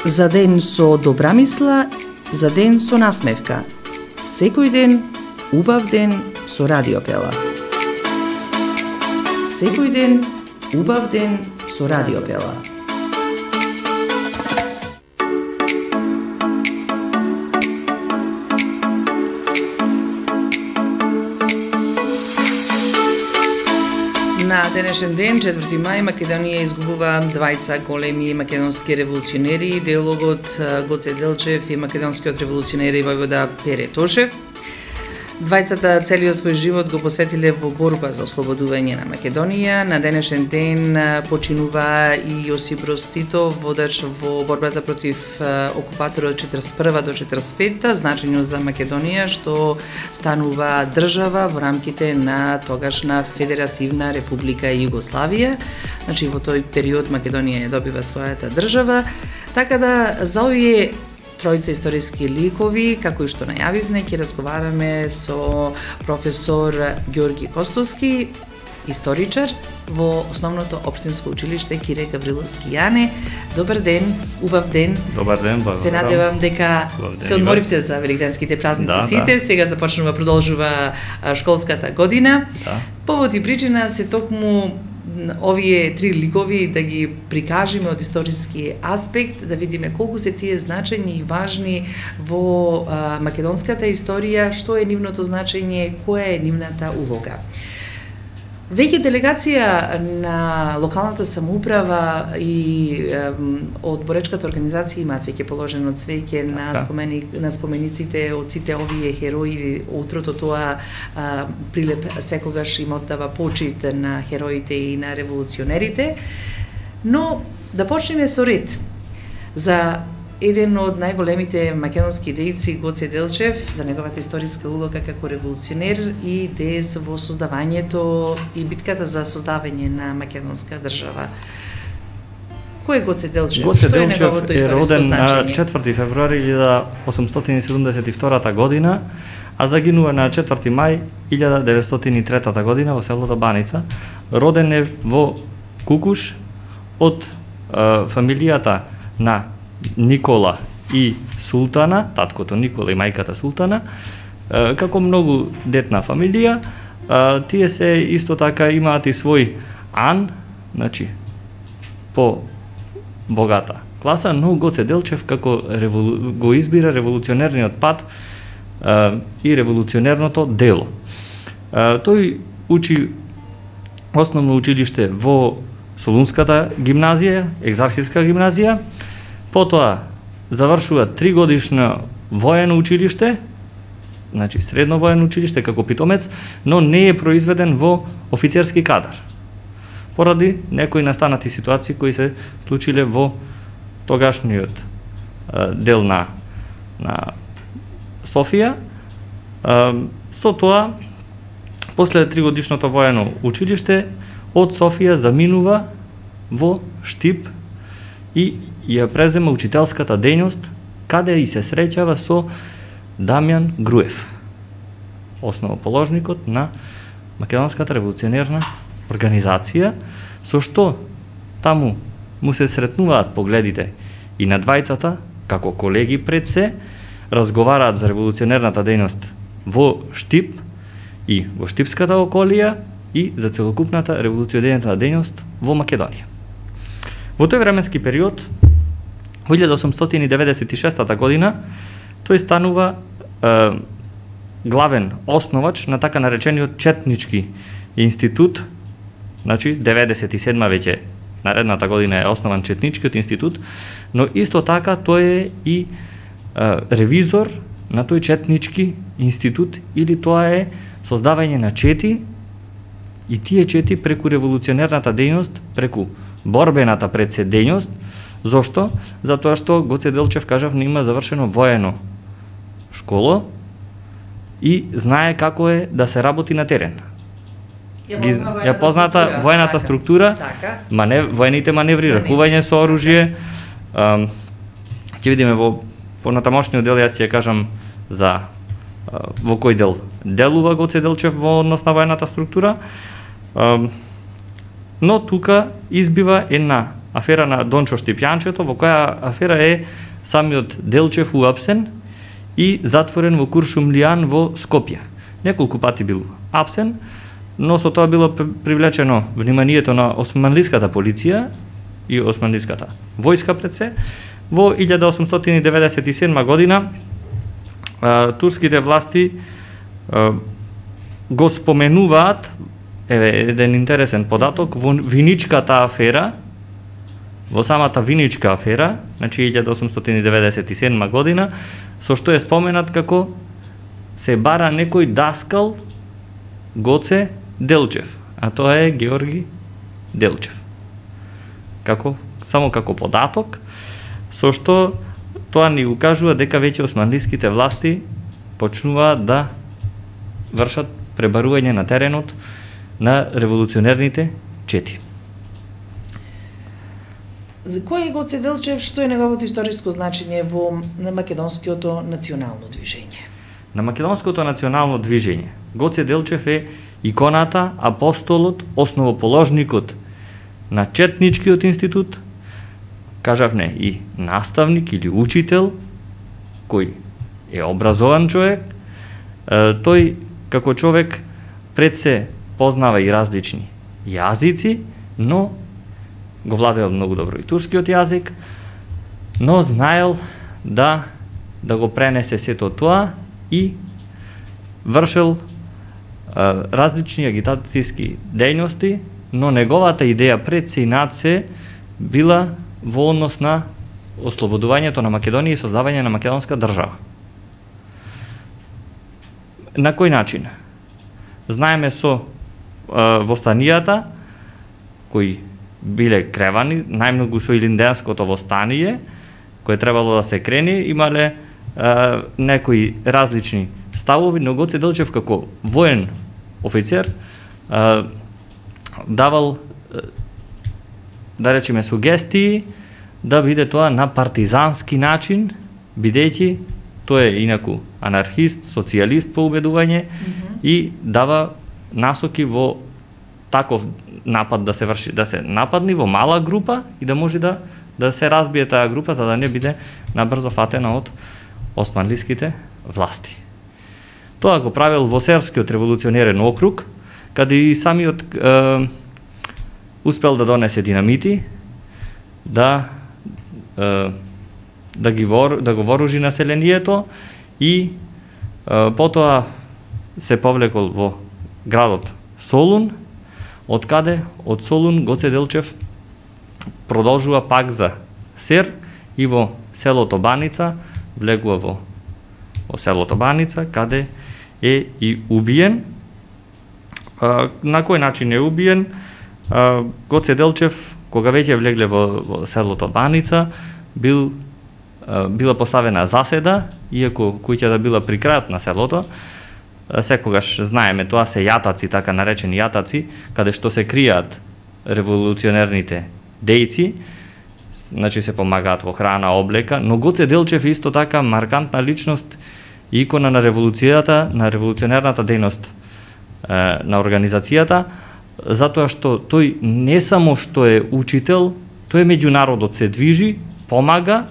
За ден со добра мисла, за ден со насмевка. Секој ден, убав ден со Радиопела. Секој ден, убав ден со Радиопела. На денешен ден, 4 мај, Македонија изгубува двајца големи македонски револуционери, идеологот Гоце Делчев и македонскиот револуционер и војвода Пере Тошев. Двајцата целиот свој живот го посветиле во борба за ослободување на Македонија. На денешен ден починува и Јосип Броз Тито, водач во борбата против окупаторот 41 до 45, значење за Македонија што станува држава во рамките на тогашна Федеративна република Југославија. Значи во тој период Македонија ја добива својата држава. Така да за овие тројца историски ликови, како и што најавивме, ќе разговараме со професор Ѓорги Костовски, историчар во Основното општинско училиште Кире Гавриловски Јане. Добар ден, убав ден. Добар ден, благодарам. Се надевам дека се одморивте за великденските празници сите. Сега започнува, продолжува школската година. Да. Повод и причина се токму овие три ликови да ги прикажеме од историски аспект, да видиме колку се тие значајни и важни во македонската историја, што е нивното значење, која е нивната улога. Веќе делегација на локалната самоуправа и од боречката организација имаат веќе положено цвеќе на спомениците од сите овие херои. Утрото тоа Прилеп секогаш им оддава почит на хероите и на револуционерите. Но да почнеме со ред. За еден од најголемите македонски дејци, Гоце Делчев, за неговата историска улога како револуционер и деец во создавањето и битката за создавање на македонска држава. Кој е Гоце Делчев? Гоце Делчев е роден на 4 февруари 1872 година, а загинува на 4 мај 1903 година во селото Баница. Роден е во Кукуш од фамилијата на Никола и Султана, таткото Никола и мајката Султана. Како многу детна фамилија, тие се исто така имаат и свој ан, значи по богата класа, но Гоце Делчев како го избира револуционерниот пат и револуционерното дело. Тој учи основно училиште во Солунската гимназија, Екзархиска гимназија. Потоа завршува 3-годишно воено училиште, значи средно воено училиште како питомец, но не е произведен во офицерски кадар. Поради некои настанати ситуации кои се случиле во тогашниот дел на Софија. Со тоа, после 3-годишното воено училиште, од Софија заминува во Штип и ја презема учителската дејност, каде и се среќава со Дамјан Груев, основоположникот на Македонската револуционерна организација, со што таму му се сретнуваат погледите и на двајцата, како колеги пред се, разговараат за револуционерната дејност во Штип и во Штипската околија и за целокупната револуционерна дејност во Македонија. Во тој временски период, во 1896 година, тој станува главен основач на така наречениот Четнички институт, значи 97 веќе наредната година е основан Четничкиот институт, но исто така тој е и ревизор на тој Четнички институт, или тоа е создавање на чети, и тие чети преку револуционерната дејност, преку борбената пред се дејност. Зошто? Затоа што Гоце Делчев, кажав, не има завршено воено школо и знае како е да се работи на терен. Ја позната воената структура, воените маневри, ракување со оружје. Ќе видиме во понатамошниот дел, јас ќе кажам за во кој дел делува Гоце Делчев во однос на воената структура. Но тука избива една афера на Дончо Штипјанчето, во која афера е самиот Делчев уапсен и затворен во Куршумлијан во Скопје. Неколку пати бил апсен, но со тоа било привлечено вниманието на османлиската полиција и османлиската војска пред се. Во 1897 година турските власти го споменуваат, еден интересен податок, во Виничката афера, во самата Виничка афера, значи 1897 година, со што е споменат како се бара некој даскал Гоце Делчев, а тоа е Георги Делчев. Само како податок, со што тоа ни укажува дека веќе османлиските власти почнуваат да вршат пребарување на теренот на револуционерните чети. За кој е Гоце Делчев, што е неговото историско значење во македонското национално движење? На македонското национално движење Гоце Делчев е иконата, апостолот, основоположникот на Четничкиот институт, кажавме и наставник или учител, кој е образован човек. Тој како човек пред се познава и различни јазици, но го владеел многу добро и турскиот јазик, но знаел да го пренесе сето тоа и вршел различни агитацијски дејности, но неговата идеја пред се и над се била во однос на ослободувањето на Македонија и создавање на македонска држава. На кој начин? Знаеме со востанијата, кои биле кревани, најмногу со Илинденското востание, кое требало да се крени, имале некои различни ставови, но Гоце Делчев како воен офицер давал, да речеме, сугестии да биде тоа на партизански начин, бидејќи тој е инаку анархист, социјалист по убедување и дава насоки во таков напад да се врши, да се нападни во мала група и да може да се разбие таа група за да не биде набрзо фатена од османлиските власти. Тоа го правил во Серскиот револуционерен округ, каде и самиот успел да донесе динамити, да го вооружи населението и потоа се повлекол во градот Солун, од каде од Солун Гоце Делчев продолжува пак за Сер и во селото Баница, влегува во селото Баница, каде е и убиен. На кој начин е убиен? Гоце Делчев, кога веќе влегле во селото Баница, била поставена заседа, иако куќата била при крајот на селото. Секогаш знаеме, тоа се јатаци, така наречени јатаци, каде што се кријат револуционерните дејци, значи се помагаат во храна, облека, но Гоце Делчев е исто така маркантна личност и икона на револуцијата, на револуционерната дејност на организацијата, затоа што тој не само што е учител, тој меѓу народот се движи, помага,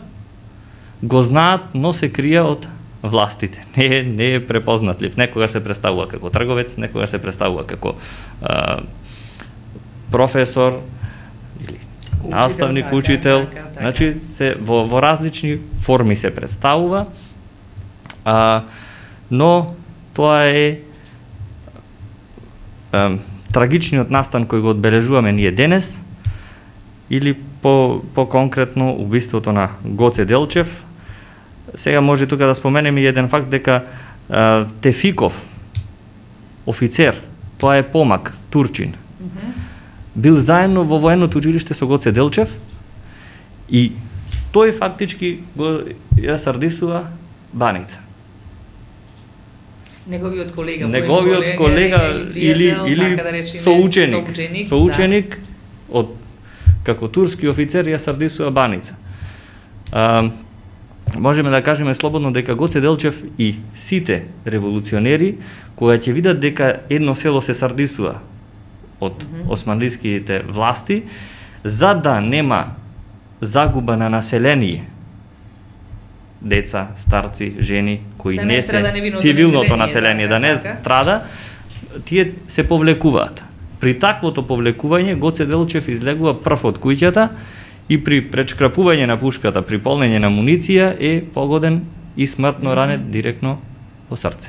го знаат, но се крие од властите. Не е препознатлив. Некогаш се представува како трговец, некогаш се представува како професор или наставник, учител. Значи во различни форми се представува, но тоа е трагичниот настан кој го одбележуваме ние денес, или по-конкретно убиството на Гоце Делчев. Сега може тука да споменеме еден факт дека Тефиков, офицер, тоа е помак, турчин, бил заедно во военното училиште со Гоце Делчев и тој фактички го ја сардисува Баница. Неговиот колега или соученик од како турски офицер ја сардисува Баница. Можеме да кажеме слободно дека Гоце Делчев и сите револуционери, кога ќе видат дека едно село се сардисува од османлиските власти, за да нема загуба на население, деца, старци, жени, кои не се цивилното население, да не страда, тие се повлекуваат. При таквото повлекување Гоце Делчев излегува прв од куќата и при пречкрапување на пушката, при полнење на муниција е погоден и смртно ранет директно во срце.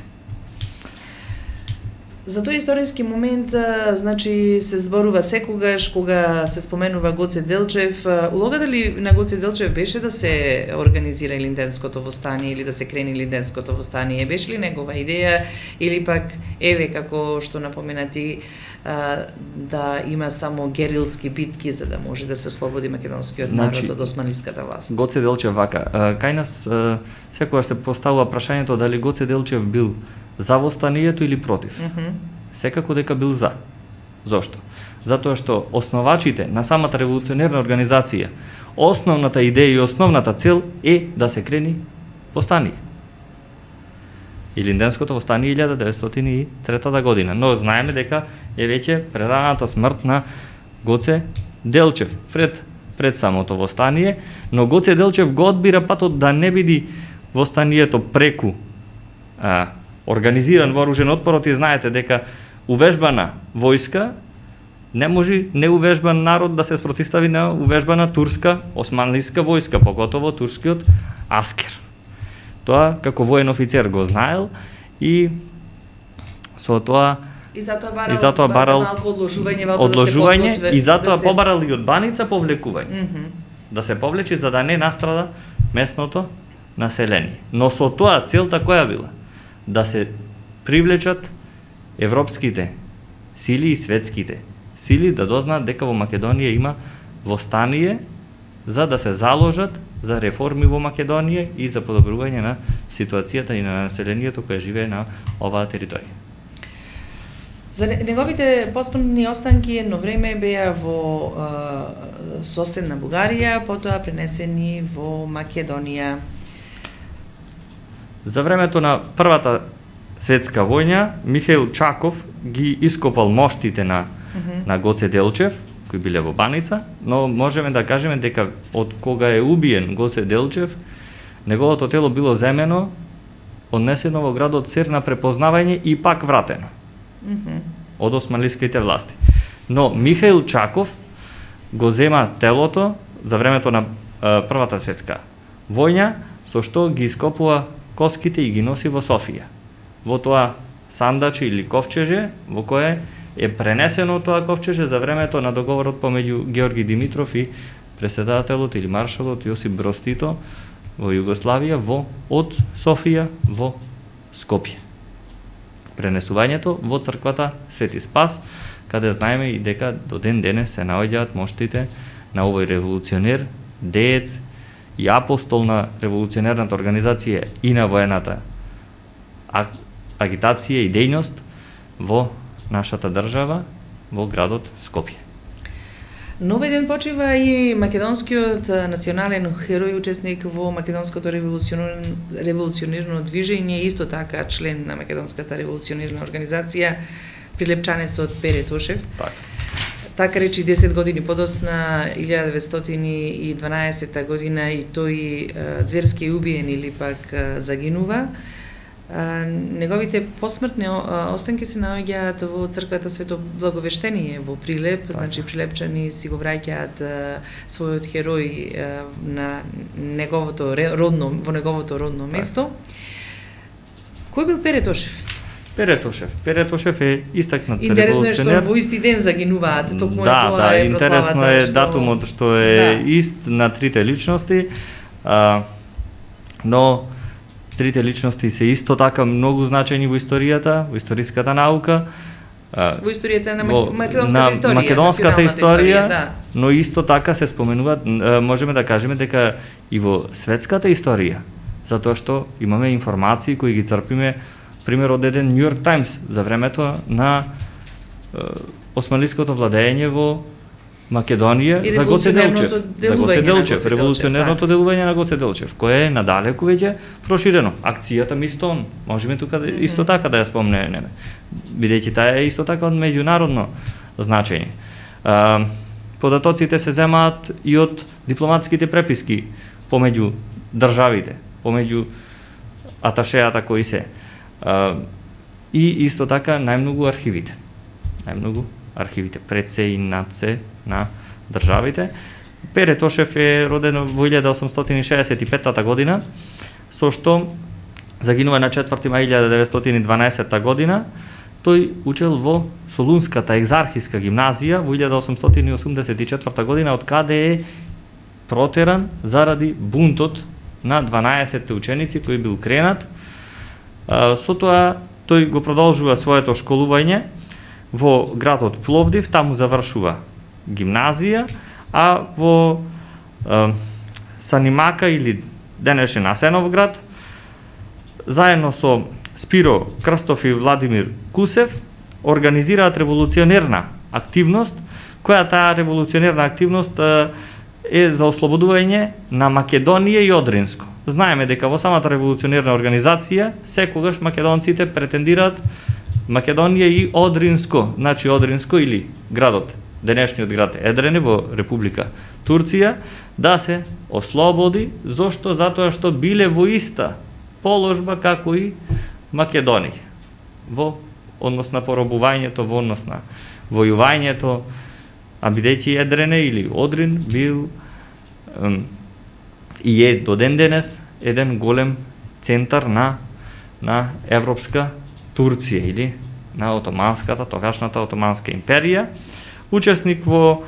За тој историски момент, значи, се зборува секогаш кога се споменува Гоце Делчев. Улогата ли на Гоце Делчев беше да се организира Илинденското востание или да се крени Илинденското востание? Беше ли негова идеја или пак, еве, како што напоменати, да има само герилски битки за да може да се слободи македонскиот народ од османлиската власт? Гоце Делчев вака, кај нас секогаш се поставува прашањето дали Гоце Делчев бил за востанието или против. Секако дека бил за. Зошто? Затоа што основачите на самата револуционерна организација, основната идеја и основната цел е да се крени востание. Илинденското востание 1903 година, но знаеме дека е веќе прераната смрт на Гоце Делчев пред самото востание, но Гоце Делчев го одбира патот да не биде востанието преку организиран вооружен отпор, и знаете дека увежбана војска не може неувежбан народ да се спротивстави на увежбана турска, османлиска војска, поготово турскиот аскер. Тоа како воен офицер го знаел и со тоа И затоа барал одложување и затоа побарал и од Баница повлекување. Да се повлечи за да не настрада местното население. Но со тоа целта која била? Да се привлечат европските сили и светските сили да дознаат дека во Македонија има востание за да се заложат за реформи во Македонија и за подобрување на ситуацијата и на населението кое живее на оваа територија. За неговите посмртни останки едно време беа во соседна Бугарија, потоа пренесени во Македонија. За времето на Првата светска војна, Михаил Чаков ги ископал моштите на Гоце Делчев, кои биле во Баница, но можеме да кажеме дека од кога е убиен Гоце Делчев, неговото тело било земено, однесено во градот Сер на препознавање и пак вратено од османлиските власти. Но Михаил Чаков го зема телото за времето на Првата светска војна, со што ги ископува коските и ги носи во Софија. Во тоа сандаче или ковчеже, во кое е пренесено тоа ковчеже за времето на договорот помеѓу Георги Димитров и претседателот или маршалот Јосип Броз Тито во Југославија од Софија во Скопје. Пренесувањето во црквата Свети Спас, каде знаеме и дека до ден денес се наоѓаат моштите на овој револуционер, деец и апостол на револуционерната организација и на воената агитација и дејност во нашата држава, во градот Скопје. Но овој ден почива и македонскиот национален херој, учесник во македонското револуционерно движење, исто така член на македонската револуционерна организација, прилепчанецот Пере Тошев. Така речи 10 години подоцна, 1912 година, и тој зверски е убиен или пак загинува. Неговите посмртни останки се наоѓаат во црквата Свето Благовештение во Прилеп, значи прилепчани си го враќаат својот херој на неговото родно место. Кој бил Пере Тошев? Пере Тошев е истакнат револуционер. Интересно е што во исти ден загинуваат, токму тоа е интересно е датумот што е ист на трите личности, но трите личности се исто така многу значајни во историјата, во историската наука, во историјата на македонската историја, но исто така се споменуваат, можеме да кажеме дека и во светската историја, затоа што имаме информации кои ги црпиме, пример од еден New York Times за времето на османлиското владење во Македонија за Гоце Делчев, револуционерното делување на Гоце Делчев, кое е надалеку веќе проширено. Акцијата Мистон, можеме тука исто така да ја спомнеме, бидејќи таа е исто така од меѓународно значење. Податоците се земаат и од дипломатските преписки помеѓу државите, помеѓу аташеата кои се. И исто така најмногу архивите. Најмногу архивите пред се и над се на државите. Пере Тошев е роден во 1865 година, со што загинува на 4 мај 1912 година. Тој учел во Солунската екзархиска гимназија во 1884 година, од каде е протеран заради бунтот на 12 ученици кои бил кренат. Со тоа тој го продолжува своето школување во градот Пловдив, таму завршува гимназија, а во Санимака или денешен Асеновград, заедно со Спиро Крстов и Владимир Кусев организираат револуционерна активност, која таа револуционерна активност е за ослободување на Македонија и Одринско. Знаеме дека во самата револуционерна организација секогаш македонците претендираат Македонија и Одринско, значи Одринско или градот, денешниот град Едрене во Република Турција, да се ослободи, зошто? Затоа што биле во иста положба како и Македонија, во однос на поробувањето, во однос на војувањето, а бидејќи Едрене или Одрин бил и е до ден денес еден голем центар на европска Турција или на отоманската, тогашната отоманска империја. Учесник во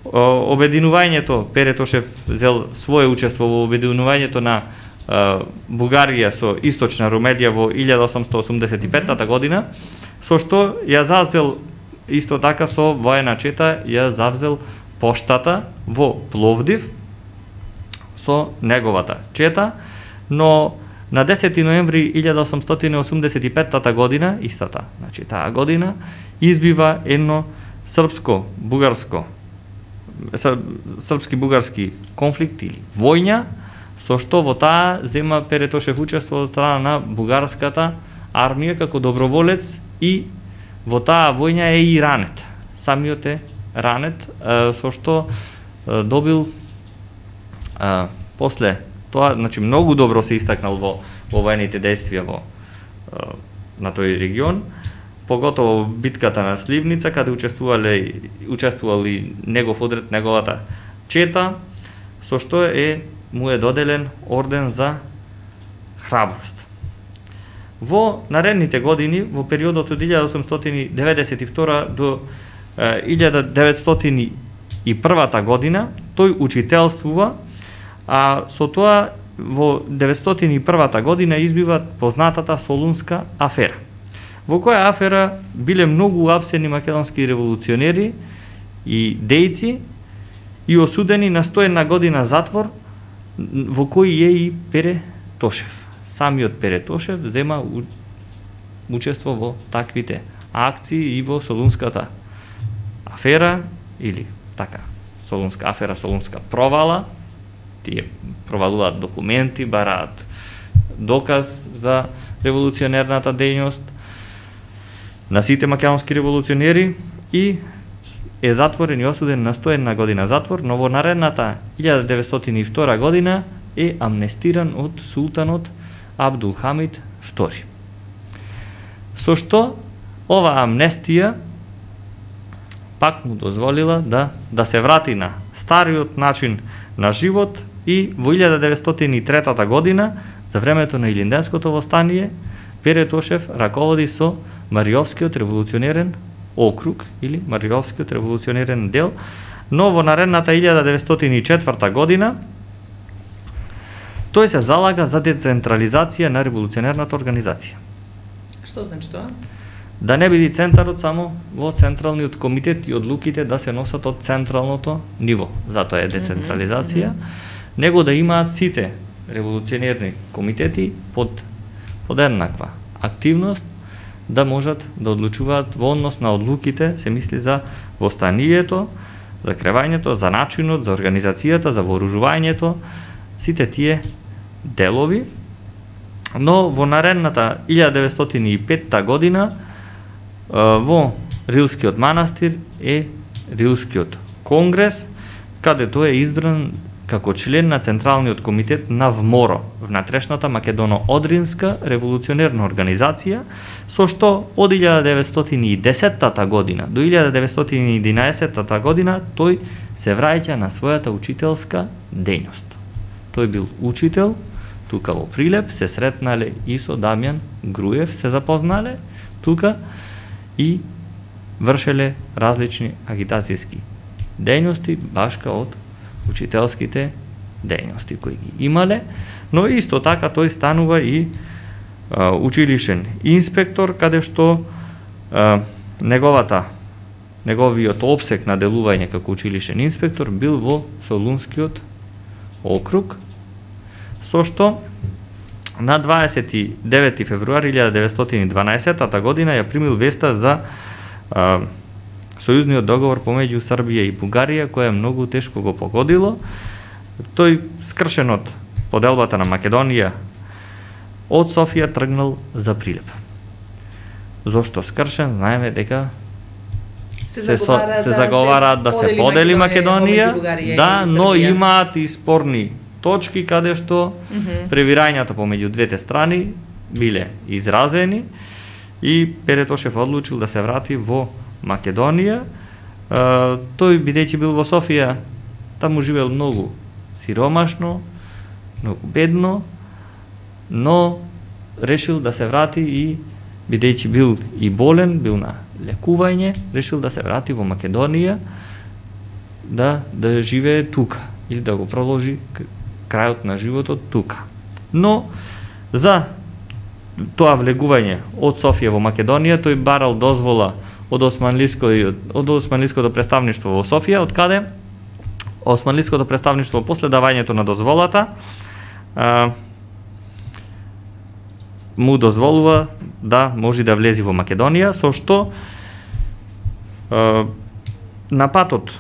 обединувањето, Пере Тошев зел свое учество во обединувањето на Бугарија со Источна Румелија во 1885 година, со што ја зазел исто така со воена чета, ја завзел поштата во Пловдив со неговата чета, но на 10 ноември 1885 година, истата, значи таа година, избива едно српски-бугарски конфликт или војња, со што во таа зема Пере Тошев учество од страна на бугарската армија како доброволец и во таа војња е и ранет. Самиот е ранет, со што добил после тоа, значи многу добро се истакнал во воените действија на тој регион, поготово битката на Сливница, каде учествувал и негов одред, неговата чета, со што му е доделен орден за храброст. Во наредните години, во периодот од 1892 до 1901 година, тој учителствува, а со тоа во 1901 година избива познатата Солунска афера, во која афера биле многу уапсени македонски револуционери и дејци и осудени на 101 година затвор, во кој е и Пере Тошев. Самиот Пере Тошев зема учество во таквите акции и во Солунската афера, или така, Солунска афера, Солунска провала. Тие провалуваат документи, бараат доказ за револуционерната дејност на сите македонски револуционери и е затворен и осуден на 101 година затвор, но во наредната 1902 година е амнестиран од султанот Абдулхамид II. Со што ова амнестија пак му дозволила да се врати на стариот начин на живот и во 1903 година, за времето на Илинденското востание, Пере Тошев раководи со Мариовскиот револуционерен округ или Мариовскиот револуционерен дел, но во наредната 1904 година тој се залага за децентрализација на револуционерната организација. Што значи тоа? Да не биде центарот само во централниот комитет и одлуките да се носат од централното ниво. Затоа е децентрализација. Него да имаат сите револуционерни комитети под еднаква активност, да можат да одлучуваат во однос на одлуките, се мисли за востанието, за кревањето, за начинот, за организацијата, за вооружувањето, сите тие делови. Но во наредната 1905 година во Рилскиот манастир е Рилскиот конгрес, каде тој е избран како член на Централниот комитет на ВМОРО, внатрешната Македоно-Одринска револуционерна организација, со што од 1910 година до 1911 година тој се враќа на својата учителска дејност. Тој бил учител, тука во Прилеп се сретнале и со Дамјан Груев, се запознале тука и вршеле различни агитацијски дејности, башка од учителските дејности кои ги имале, но исто така тој станува и училишен инспектор, каде што неговиот опсек на делување како училишен инспектор бил во Солунскиот округ, со што на 29 февруари 1912 година ја примил веста за сојузниот договор помеѓу Србија и Бугарија, која многу тешко го погодило. Тој, скршен од поделбата на Македонија од Софија, тргнал за Прилеп. Зошто скршен? Знаеме дека се заговараат да се подели Македонија, да, но имаат и спорни точки каде што превирањата помеѓу двете страни биле изразени и Перетошев одлучил да се врати во Македонија. Тој, бидејќи бил во Софија, таму живеел многу сиромашно, многу бедно, но решил да се врати и, бидејќи бил и болен, бил на лекување, решил да се врати во Македонија, да живее тука или да го продолжи крајот на животот тука. Но за тоа влегување од Софија во Македонија, тој барал дозвола од Османлиското представништво во Софија, од каде Османлиското представништво после давањето на дозволата му дозволува да може да влези во Македонија, со што на патот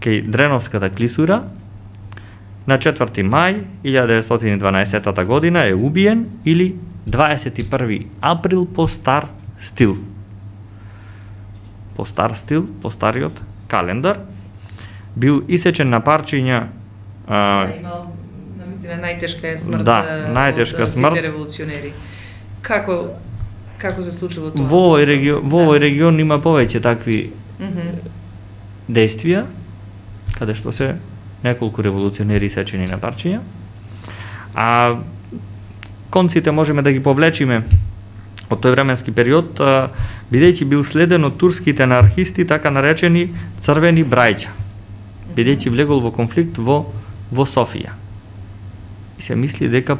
кај Дреновската клисура на 4 мај 1912 година е убиен, или 21 април по стар стил. По стариот календар, бил исечен на парчиња. Имал навистина најтешка смрт. Да, најтешка смрт. Сите револуционери. Како се случило тоа? Во овој регион има повеќе такви действија, каде што се неколку револуционери исечени на парчиња. А конците можеме да ги повлечиме од тој временски период, бидејќи бил следен од турските анархисти, така наречени црвени брајќа, бидејќи влегол во конфликт во Софија. И се мисли дека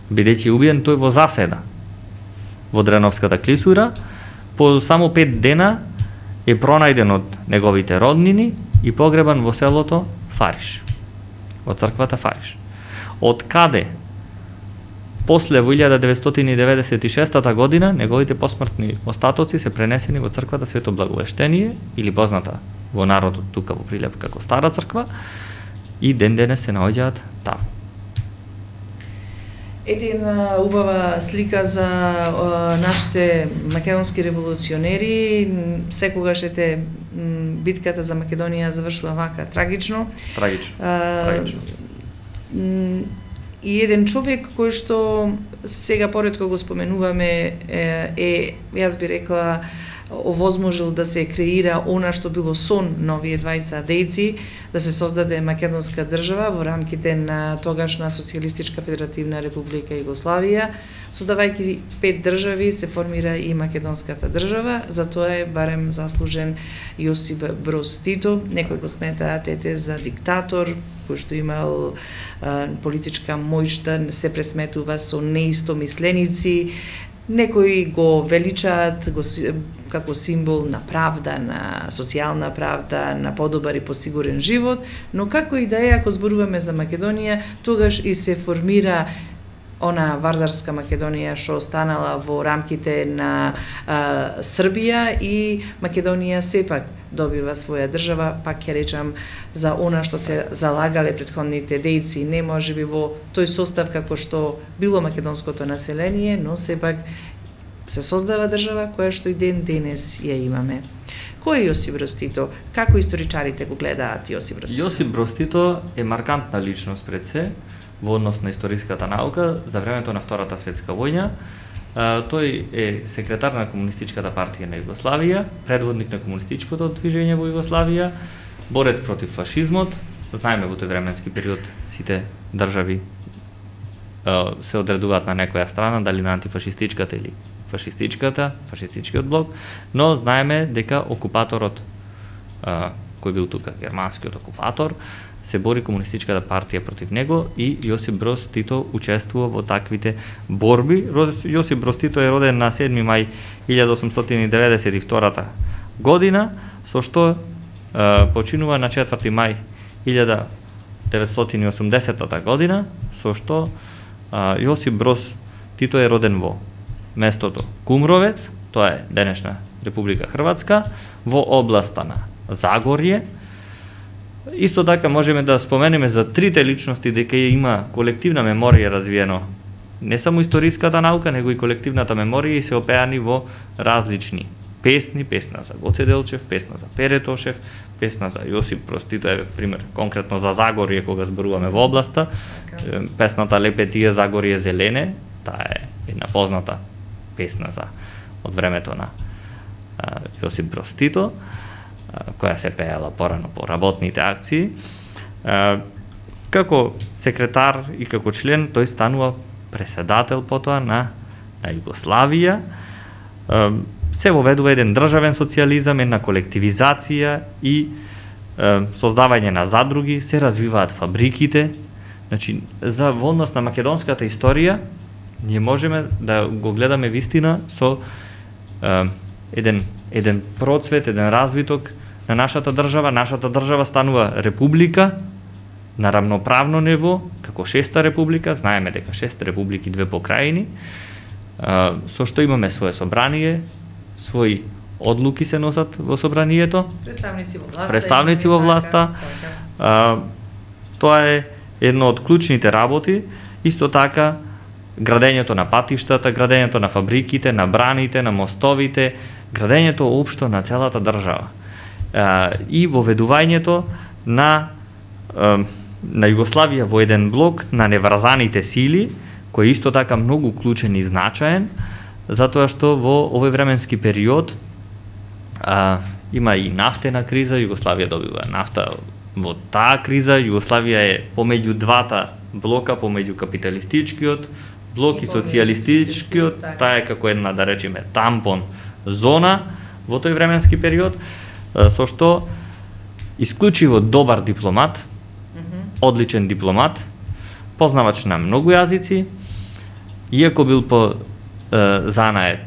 бидејќи убиен тој во заседа во Дреновската клисура, по само 5 дена е пронајден од неговите роднини и погребан во селото Фариш, во црквата Фариш. Од каде после во 1996 година неговите посмртни остатоци се пренесени во црквата Свето Благовештение, или позната во народот тука во Прилеп како Стара црква, и ден денес се наоѓаат таму. Една убава слика за нашите македонски револуционери. Секогаш битката за Македонија завршува вака трагично. Трагично. И еден човек кој што сега поретко го споменуваме јас би рекла, овозможил да се креира она што било сон на овие двајца дејци, да се создаде македонска држава во рамките на тогашна Социјалистичка федеративна република Југославија. Создавајќи 5 држави се формира и македонската држава, за тоа е барем заслужен Јосип Броз Тито. Некој го смета тете за диктатор, кој што имал политичка моќта, се пресметува со неистомисленици. Некои го величаат како символ на правда, на социјална правда, на подобар и посигурен живот, но како и да е, ако зборуваме за Македонија, тогаш и се формира она вардарска Македонија што останала во рамките на Србија, и Македонија сепак добива своја држава, пак ќе речам, за она што се залагале претходните дејци, не можеби во тој состав како што било македонското население, но сепак се создава држава која што и ден денес ја имаме. Кој е Јосип Брос Тито? Како историчарите го гледаат Јосип Брос Тито? Јосип Брос Тито е маркантна личност пред се во однос на историската наука за времето на Втората светска војна. Тој е секретар на Комунистичката партија на Југославија, предводник на комунистичкото движење во Југославија, борец против фашизмот. Знаеме во тој временски период сите држави се одредуваат на некоја страна, дали на антифашистичката или фашистичкиот блок, но знаеме дека окупаторот кој бил тука, германскиот окупатор, се бори Комунистичката партија против него и Јосип Брос Тито учествува во таквите борби. Јосип Брос Тито е роден на 7 мај 1892 година, со што починува на 4 мај 1980 година, со што Јосип Брос Тито е роден во местото Кумровец, тоа е денешна Република Хрватска, во областа на Загорје. Исто така можеме да споменеме за трите личности дека има колективна меморија развиено. Не само историската наука, него и колективната меморија и се опеани во различни песни, песна за Гоце Делчев, песна за Пере Тошев, песна за Јосип Брос Тито, еве пример конкретно за Загорје кога зборуваме во областа. Песната Лепе тие Загорје зелене, таа е една позната песна за од времето на Јосип Брос Тито, која се пеела порано по работните акции. Како секретар и како член тој станува преседател потоа на Југославија. Се воведува еден државен социјализам, една колективизација и создавање на задруги, се развиваат фабриките. Значи, за во однос на македонската историја, ние можеме да го гледаме вистина со еден процвет, еден развиток на нашата држава. Нашата држава станува република на рамноправно ниво, како шеста република. Знаеме дека 6 републики, 2 покрајини, со што имаме свое собрание, своји одлуки се носат во собранието, представници во власта. Тоа е едно од клучните работи. Исто така градењето на патиштата, градењето на фабриките, на браните, на мостовите, градењето општо на целата држава. И воведувањето на Југославија во еден блок на неврзаните сили, кој е исто така многу клучен и значаен, затоа што во овој временски период има и нафтена криза, Југославија добива нафта во таа криза, Југославија е помеѓу двата блока, помеѓу капиталистичкиот блок и социјалистичкиот, таа е како една, да речеме, тампон зона во тој временски период, со што исклучиво добар дипломат, одличен дипломат, познавач на многу јазици, иако бил по занаед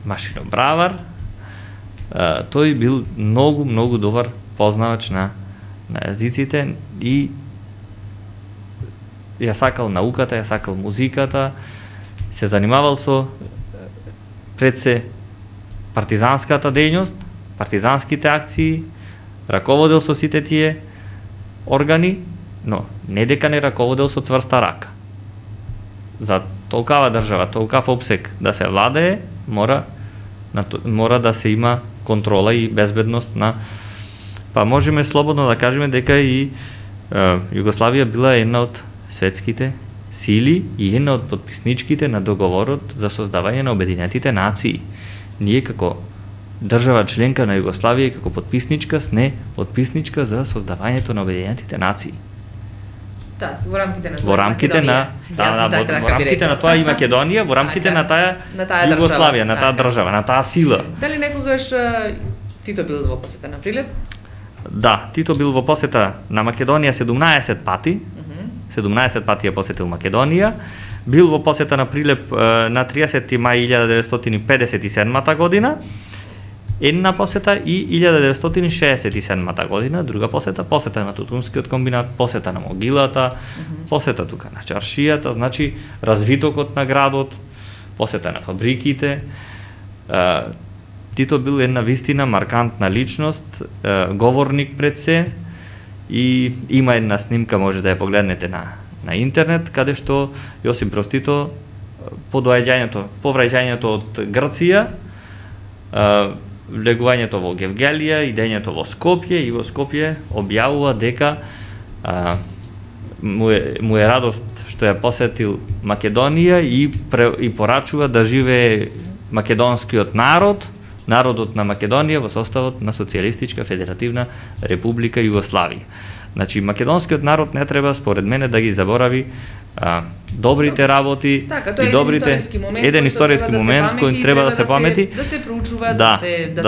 машинобравар, тој бил многу добар познавач на јазиците и ја сакал науката, ја сакал музиката, се занимавал со пред се партизанската дејност, партизанските акции, раководел со сите тие органи, но не дека не раководел со цврста рака. За толкава држава, толкав обсек да се владее, мора да се има контрола и безбедност на... Па можеме слободно да кажеме дека и Југославија била една од светските сили и една од подписничките на договорот за создавање на Обединетите нации. Ние како држава членка на Југославија и како подписничка сме подписничка за создавањето на Обединетите нации. Да, во рамките на во рамките на тоа и Македонија, во рамките на таа Југославија, на таа држава, на таа сила. Дали некогаш Тито бил во посета на Прилеп? Да, Тито бил во посета на Македонија 17 пати. 17 пати ја посетил Македонија. Бил во посета на Прилеп на 30 мај 1957 година. Една посета и 1967 година, друга посета на Тутунскиот комбинат, посета на могилата, посета тука на чаршијата, значи развитокот на градот, посета на фабриките. Тито бил една вистина маркантна личност, говорник пред се, и има една снимка, може да ја погледнете на интернет, каде што Јосип Брос Тито повраќањето од Грција, влегувањето во Гевгелија, идењето во Скопје, и во Скопје објавува дека му е радост што ја посетил Македонија и порачува да живее македонскиот народот на Македонија во составот на Социјалистичка Федеративна Република Југославија. Значи, македонскиот народ не треба, според мене, да ги заборави добрите работи и добрите еден историски момент кој треба да се памети, да се проучува, да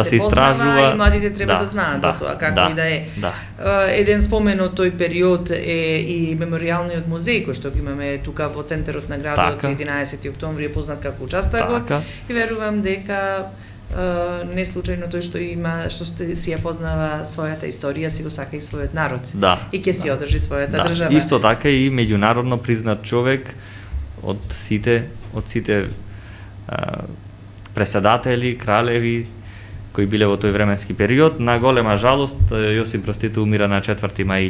се познава и младите треба да знаат за тоа како и да е. Еден спомен од тој период е и меморијалниот музеј кој што го имаме тука во центарот на градот, 11 октомври е познат како участокот, и верувам дека не случајно тој што си ја познава својата историја, си го сака и својот народ. И ќе си одржи својата држава. Исто така и меѓународно признат човек од сите преседатели, кралеви кои биле во тој временски период. На голема жалост, Јосип Брз Тито умира на 4 мај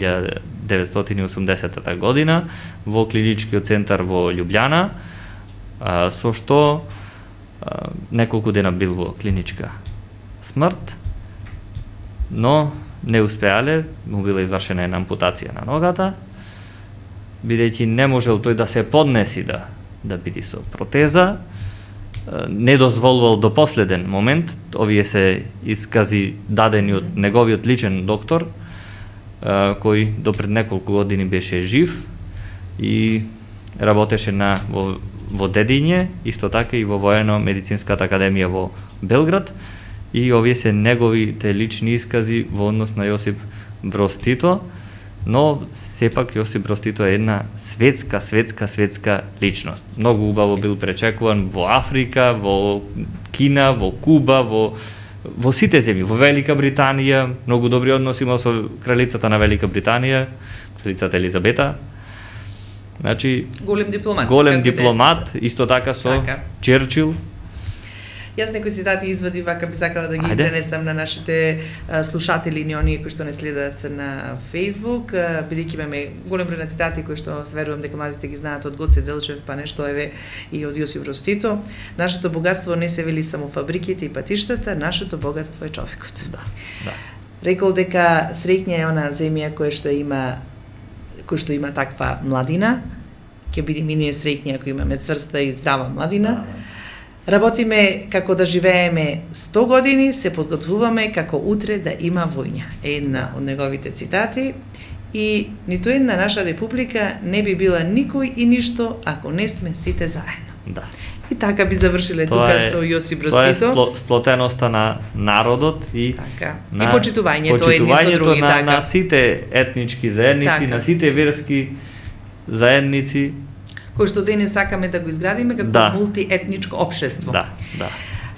1980 година во клиничкиот центар во Љубљана, со што неколку дена бил во клиничка смрт, но не успеале, му била извршена една ампутација на ногата, бидејќи не можел тој да се поднеси да биде со протеза, не дозволувал до последен момент, овие се искази дадени од неговиот личен доктор, кој до пред неколку години беше жив и работеше во Дедиње, исто така и во Воено-медицинската академија во Белград, и овие се неговите лични искази во однос на Јосип Броз Тито, но сепак Јосип Броз Тито е една светска личност. Многу убаво бил пречекуван во Африка, во Кина, во Куба, во сите земји, во Велика Британија, многу добри односи имал со кралицата на Велика Британија, кралицата Елизабета. Значи, голем дипломат, исто така со Черчил. Јас некои цитати извади вака би сакала да ги пренесам на нашите слушатели и оние кои што не следат на Facebook, бидејќи имаме голем број на цитати кои што верувам дека младите ги знаат од Гоце Делчев, па нешто еве и од Јосип Броз Тито. Нашето богатство не се вели само фабриките и патиштата, нашето богатство е човекот. Рекол дека среќна е она земја која што има таква младина, ќе бидеме и ние среќни ако имаме цврста и здрава младина. Работиме како да живееме 100 години, се подготвуваме како утре да има војна. Една од неговите цитати. И ниту една наша република не би била никој и ништо ако не сме сите заедно. И така би завршиле тука со Јосип Броз Тито. Тоа е сплотеноста на народот и почитувањето на сите етнички заедници, на сите верски заедници, кој што денес сакаме да го изградиме како мултиетничко општество.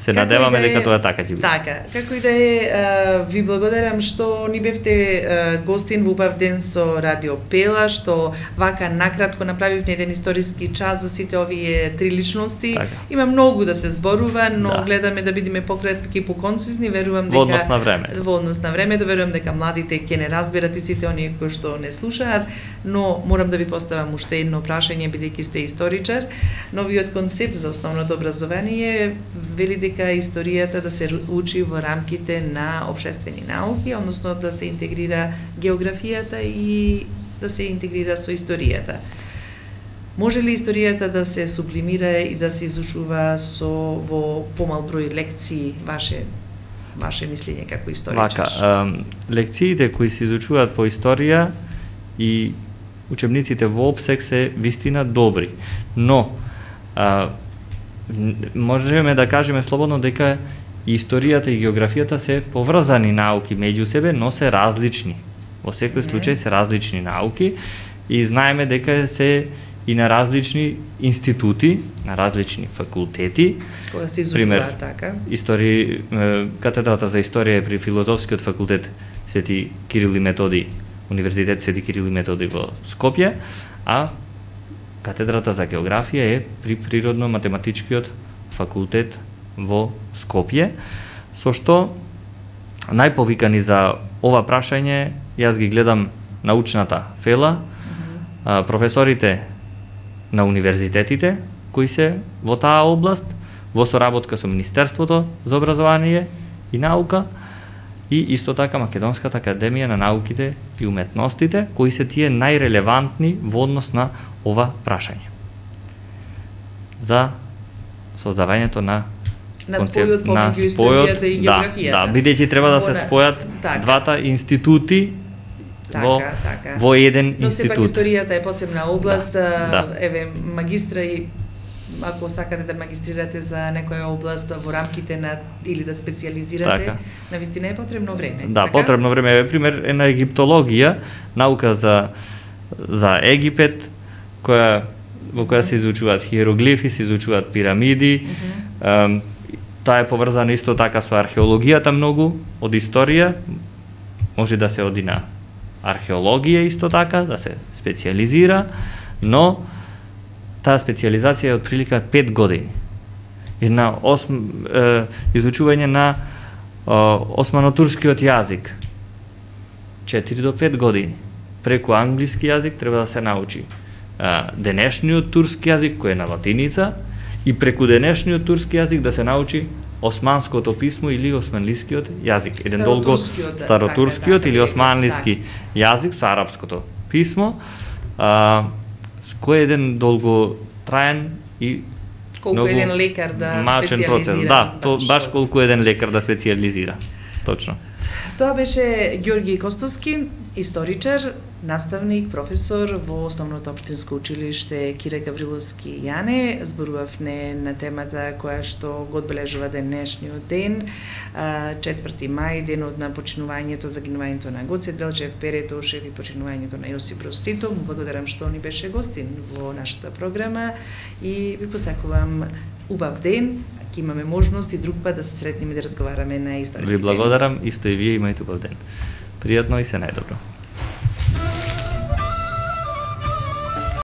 Се надеваме дека тоа така ќе биде. Така, како и да е, ви благодарам што ни бевте гостин во убав ден со Радио Пела, што вака накратко направивте еден историски час за сите овие три личности. Има многу да се зборува, но гледаме да бидеме пократки, поконцизни, верувам дека во однос на времето, верувам дека младите ќе не разберат и сите оние кои што не слушаат, но морам да ви поставам уште едно прашање бидејќи сте историчар. Новиот концепт за основното образование вели дека историјата да се учи во рамките на општествени науки, односно да се интегрира географијата и да се интегрира со историјата. Може ли историјата да се сублимира и да се изучува во помал број лекции, ваше мислење како историчар? Лекциите кои се изучуваат по историја и учебниците во опсек се вистина добри, но можеме да кажеме слободно дека историјата и географијата се поврзани науки меѓу себе, но се различни. Во секој случај се различни науки и знаеме дека се и на различни институти, на различни факултети. Кога се изучува така? Катедрата за историја е при Филозофскиот факултет Свети Кирил и Методи, Универзитет Свети Кирил и Методи во Скопје, а катедрата за географија е при Природно-математичкиот факултет во Скопје, со што најповикани за ова прашање јас ги гледам научната фела, професорите на универзитетите кои се во таа област, во соработка со Министерството за образование и наука и исто така Македонската академија на науките и уметностите, кои се тие најрелевантни во однос на ова прашање. За создавањето на спојот помеѓу историјата и географијата. Да, бидејќи треба да се спојат двата институти во еден институт. Но сепак историјата е посебна област, еве магистра и ако сакате да магистрирате за некоја област во рамките на или да специјализирате, навистина е потребно време. Да, така? Потребно време. Еве пример е на египтологија, наука за Египет, во која се изучуваат хиероглифи, се изучуваат пирамиди. Таа е поврзана исто така со археологијата многу, од историја, може да се оди на археологија исто така, да се специјализира, но таа специјализација е од прилика 5 години. И на изучување на османо-турскиот јазик 4 до 5 години. Преку англиски јазик треба да се научи денешниот турски јазик кој е на латиница и преку денешниот турски јазик да се научи османското писмо или османлискиот јазик, еден долго старотурскиот или османлиски јазик со арапското писмо, кој е еден долго траен и колку еден лекар да мачен процес. Да, баш колку еден лекар да специјализира. Точно. Тоа беше Ѓорги Костовски, историчар, наставник, професор во Основното општинско училиште Кире Гавриловски Јане. Зборувавме на темата која што го одбележува денешниот ден, 4 мај, денот на починувањето, загинувањето на Гоце Делчев, Пере Тошев и починувањето на Јосип Брз Тито. Благодарам што ни беше гостин во нашата програма и ви посакувам убав ден. Ќе имаме можност и друг пат да се сретнеме и да разговараме на историски теми. Ви благодарам, исто и вие имајте убав ден. Пријатно и се најдобро.